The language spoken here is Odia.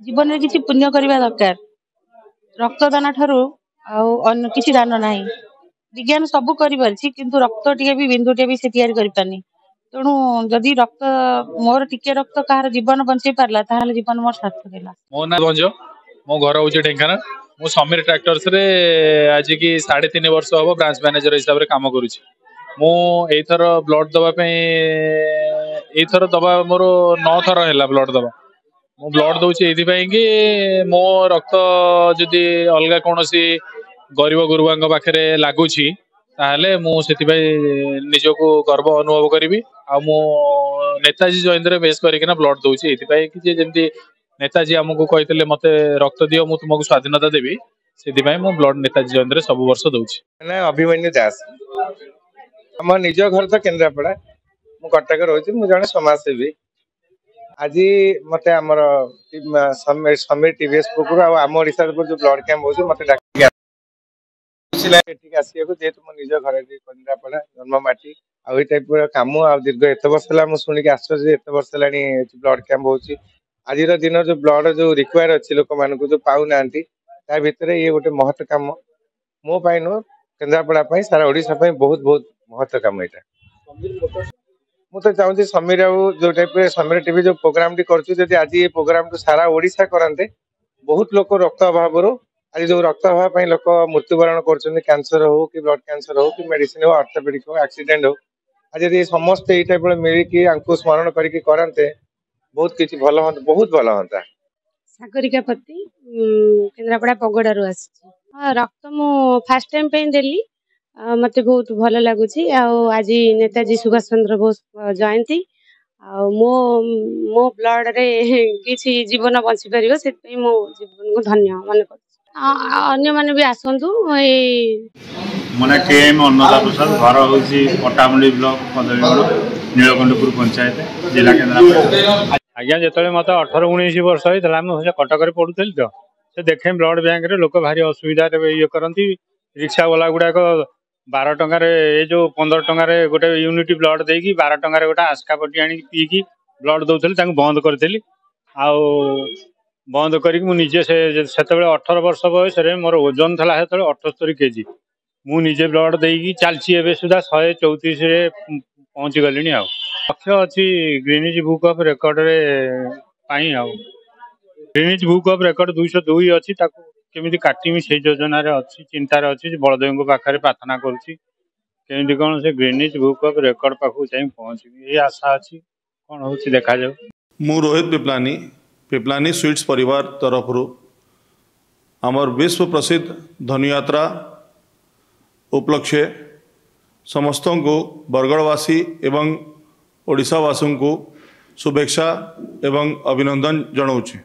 ଜୀବନରେ କିଛି ପୁଣ୍ୟ କରିବା ଦରକାର। ରକ୍ତଦାନ ଠାରୁ ଆଉ ଅନ୍ୟ କିଛି ଦାନ ନାହିଁ। ବିଜ୍ଞାନ ସବୁ କରିପାରିଛି, କିନ୍ତୁ ରକ୍ତ ଟିକେ ବି, ବିନ୍ଦୁଟିଏ ବି ସେ ତିଆରି କରିପାରିନି। ତେଣୁ ଯଦି ରକ୍ତ, ମୋର ଟିକେ ରକ୍ତ କାହାର ଜୀବନ ବଞ୍ଚେଇ ପାରିଲା, ତାହେଲେ ଜୀବନ ମୋର ସାର୍ଥକ ହେଲା। ମୋ ନାଁ ଭଞ୍ଜ, ମୋ ଘର ହଉଛି ଢେଙ୍କାନାଳ। ମୁଁ ସମୀର ଟ୍ରାକ୍ଟର୍ସରେ ଆଜିକି 3.5 ବର୍ଷ ହବ ବ୍ରାଞ୍ଚ ମ୍ୟାନେଜର ହିସାବରେ କାମ କରୁଛି। ମୁଁ ଏଇଥର ବ୍ଲଡ ଦବା ପାଇଁ, ଏଇଥର ଦବା ମୋର 9 ଥର ହେଲା ବ୍ଲଡ ଦବା। ମୁଁ ବ୍ଲଡ ଦଉଛି ଏଇଥିପାଇଁ କି ମୋ ରକ୍ତ ଯଦି ଅଲଗା କୌଣସି ଗରିବ ଗୁରୁବାଙ୍କ ପାଖରେ ଲାଗୁଛି, ତାହେଲେ ମୁଁ ସେଥିପାଇଁ ନିଜକୁ ଗର୍ବ ଅନୁଭବ କରିବି। ଆଉ ମୁଁ ନେତାଜୀ ଜୟନ୍ତୀରେ ବେଶ କରିକିନା ବ୍ଲଡ ଦଉଛି ଏଇଥିପାଇଁ କି ଯେ ଯେମିତି ନେତାଜୀ ଆମକୁ କହିଥିଲେ, ମତେ ରକ୍ତ ଦିଅ, ମୁଁ ତୁମକୁ ସ୍ୱାଧୀନତା ଦେବି, ସେଥିପାଇଁ ମୁଁ ବ୍ଲଡ ନେତାଜୀ ଜୟନ୍ତୀରେ ସବୁ ବର୍ଷ ଦଉଛି। ନା ଅଭିମନ୍ୟୁ ଦାସ। ଆମ ନିଜ ଘର ତ କେନ୍ଦ୍ରାପଡ଼ା, ମୁଁ କଟକ ରହୁଛି। ମୁଁ ଜଣେ ସମାଜସେବୀ। ଆଜି ମତେ ଆମର ସମୀର ଟିଭିଏସ୍ ପକ୍ଷରୁ ଆଉ ଆମ ଓଡ଼ିଶା ଯୋଉ ବ୍ଲଡ କ୍ୟାମ୍ପ ହଉଛି, ମତେ ଡାକିକି ଖୁସି ଲାଗେ ଏଠିକି ଆସିବାକୁ, ଯେହେତୁ ମୋ ନିଜ ଘର ଏଠି କେନ୍ଦ୍ରାପଡ଼ା, ଜନ୍ମ ମାଟି। ଆଉ ଏଇ ଟାଇପର କାମ ଆଉ ଦୀର୍ଘ ଏତେ ବର୍ଷ ହେଲା, ମୁଁ ଶୁଣିକି ଆଶ୍ଚର୍ଯ୍ୟ, ଏତେ ବର୍ଷ ହେଲାଣି ଏଠି ବ୍ଲଡ କ୍ୟାମ୍ପ ହଉଛି। ଆଜିର ଦିନ ଯୋଉ ବ୍ଲଡ ଯୋଉ ରିକ୍ୱାୟାର ଅଛି, ଲୋକମାନଙ୍କୁ ଯୋଉ ପାଉନାହାନ୍ତି, ତା ଭିତରେ ଇଏ ଗୋଟେ ମହତ କାମ। ମୋ ପାଇଁ ନୁହଁ, କେନ୍ଦ୍ରାପଡ଼ା ପାଇଁ, ସାରା ଓଡ଼ିଶା ପାଇଁ ବହୁତ ବହୁତ ମହତ କାମ ଏଇଟା। ମୁଁ ତ ଚାହୁଁଛି ସମୀର ଆଉ ଯୋଉ ଟାଇପରେ ସମୀର ଟିଭି ଯୋଉ ପ୍ରୋଗ୍ରାମଟି କରୁଛି, ଯଦି ଆଜି ଏ ପ୍ରୋଗ୍ରାମକୁ ସାରା ଓଡ଼ିଶା କରନ୍ତେ, ବହୁତ ଲୋକ ରକ୍ତ ଅଭାବରୁ, ଆଜି ଯୋଉ ରକ୍ତ ଅଭାବ ପାଇଁ ଲୋକ ମୃତ୍ୟୁବରଣ କରୁଛନ୍ତି, କ୍ୟାନ୍ସର ହଉ କି ବ୍ଲଡ କ୍ୟାନ୍ସର ହଉ କି ମେଡିସିନ ହଉ, ଅର୍ଥୋପେଡିକ ହଉ, ଆକ୍ସିଡେଣ୍ଟ ହଉ, ଆଜି ଯଦି ସମସ୍ତେ ଏଇ ଟାଇପର ମିଳିକି ଆଙ୍କୁ ସ୍ମରଣ କରିକି କରନ୍ତେ, ବହୁତ କିଛି ଭଲ ହୁଅନ୍ତା, ବହୁତ ଭଲ ହୁଅନ୍ତା। ସାଗରିକା ପତି, କେନ୍ଦ୍ରାପଡ଼ା ପଗଡ଼ାରୁ ଆସିଛି। ହଁ, ରକ୍ତ ମୁଁ ଫାଷ୍ଟ ଟାଇମ୍ ପାଇଁ ଦେଲି, ମୋତେ ବହୁତ ଭଲ ଲାଗୁଛି। ଆଉ ଆଜି ନେତାଜୀ ସୁଭାଷ ଚନ୍ଦ୍ର ବୋଷ ଜୟନ୍ତୀ, ଆଉ ମୋ ବ୍ଲଡ଼ରେ କିଛି ଜୀବନ ବଞ୍ଚିପାରିବ, ସେଥିପାଇଁ ମୋ ଜୀବନକୁ ଧନ୍ୟ ମନେ କରୁଛି। ଅନ୍ୟମାନେ ବି ଆସନ୍ତୁ ଏଇ। ମୋ ନାଁ କେ ଏମ୍ ଅନ୍ନଦା ପ୍ରସାଦ, ଘର ହେଉଛି ପଟ୍ଟାମୁଣ୍ଡି ବ୍ଲକ କଦଳୀଗଡ଼, ନୀଳକଣ୍ଠପୁର ପଞ୍ଚାୟତ, ଜିଲ୍ଲା କେନ୍ଦ୍ରାପଡ଼ା। ଆଜ୍ଞା, ଯେତେବେଳେ ମୋତେ 18 19 ବର୍ଷ ହେଇଥିଲା, ମୁଁ ସେ କଟକରେ ପଢ଼ୁଥିଲି ତ ସେ ଦେଖେ ବ୍ଲଡ଼ ବ୍ୟାଙ୍କରେ ଲୋକ ଭାରି ଅସୁବିଧାରେ ଇଏ କରନ୍ତି। ରିକ୍ସା ବାଲା ଗୁଡ଼ାକ 12 ଟଙ୍କାରେ, ଏ ଯୋଉ 15 ଟଙ୍କାରେ ଗୋଟେ ୟୁନିଟ୍ ବ୍ଲଡ଼ ଦେଇକି 12 ଟଙ୍କାରେ ଗୋଟେ ଆସ୍କା ପଟି ଆଣିକି ପିଇକି ବ୍ଲଡ଼ ଦେଉଥିଲେ। ତାଙ୍କୁ ବନ୍ଦ କରିଥିଲି। ଆଉ ବନ୍ଦ କରିକି ମୁଁ ନିଜେ ସେ ସେତେବେଳେ 18 ବର୍ଷ ବୟସରେ, ମୋର ଓଜନ ଥିଲା ସେତେବେଳେ 78 କେଜି, ମୁଁ ନିଜେ ବ୍ଲଡ଼ ଦେଇକି ଚାଲିଛି। ଏବେ ସୁଦ୍ଧା 134ରେ ପହଞ୍ଚି ଗଲିଣି। ଆଉ ଲକ୍ଷ୍ୟ ଅଛି ଗ୍ରୀନିଜ୍ ବୁକ୍ ଅଫ୍ ରେକର୍ଡରେ ପାଇଁ। ଆଉ ଗ୍ରୀନିଜ୍ ବୁକ୍ ଅଫ୍ ରେକର୍ଡ 202 ଅଛି, ତାକୁ କେମିତି କାଟିମି ସେଇ ଯୋଜନାରେ ଅଛି, ଚିନ୍ତାରେ ଅଛି। ବଳଦେବଙ୍କ ପାଖରେ ପ୍ରାର୍ଥନା କରୁଛି କେମିତି କ'ଣ ସେ ଗ୍ରୀନିଜ୍ ବୁକ୍ ଅଫ୍ ରେକର୍ଡ ପାଖକୁ ଯାଇ ପହଞ୍ଚିବି, ଏଇ ଆଶା ଅଛି। କ'ଣ ହେଉଛି ଦେଖାଯାଉ। ମୁଁ ରୋହିତ ପିପଲାନି, ପିପଲାନି ସୁଇଟ୍ସ ପରିବାର ତରଫରୁ ଆମର ବିଶ୍ୱ ପ୍ରସିଦ୍ଧ ଧନୁଯାତ୍ରା ଉପଲକ୍ଷେ ସମସ୍ତଙ୍କୁ, ବରଗଡ଼ବାସୀ ଏବଂ ଓଡ଼ିଶାବାସୀଙ୍କୁ ଶୁଭେଚ୍ଛା ଏବଂ ଅଭିନନ୍ଦନ ଜଣାଉଛି।